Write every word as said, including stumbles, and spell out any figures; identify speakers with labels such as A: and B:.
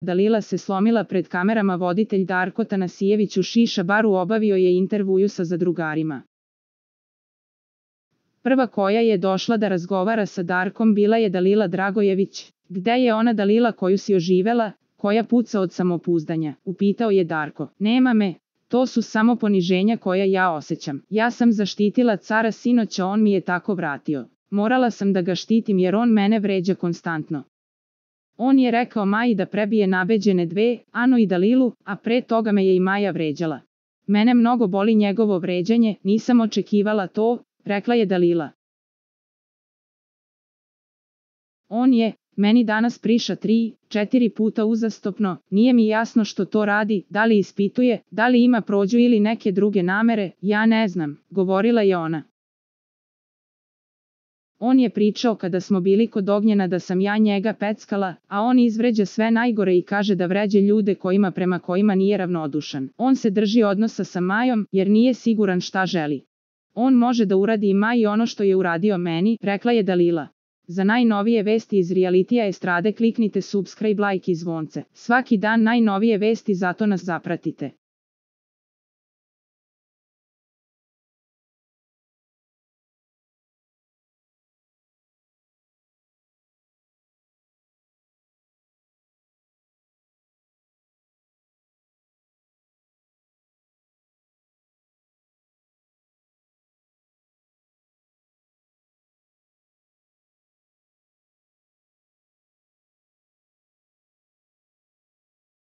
A: Dalila se slomila pred kamerama. Voditelj Darko Tanasijević u šiša baru obavio je intervju sa zadrugarima. Prva koja je došla da razgovara sa Darkom bila je Dalila Dragojević. Gde je ona Dalila koju si oživela, koja puca od samopouzdanja? Upitao je Darko. Nema me, to su samo poniženja koja ja osjećam. Ja sam zaštitila cara sinoć, a on mi je tako vratio. Morala sam da ga štitim jer on mene vređa konstantno. On je rekao Maji da prebije nabeđene dve, Anu i Dalilu, a pre toga me je i Maja vređala. Mene mnogo boli njegovo vređanje, nisam očekivala to, rekla je Dalila. On je meni danas priša tri, četiri puta uzastopno, nije mi jasno što to radi, da li ispituje, da li ima prođu ili neke druge namere, ja ne znam, govorila je ona. On je pričao kada smo bili kod Ognjena da sam ja njega peckala, a on izvređa sve najgore i kaže da vređe ljude kojima prema kojima nije ravnodušan. On se drži odnosa sa Majom jer nije siguran šta želi. On može da uradi i Maji ono što je uradio meni, rekla je Dalila. Za najnovije vesti iz realitija estrade kliknite subscribe, like i zvonce. Svaki dan najnovije vesti, zato nas zapratite.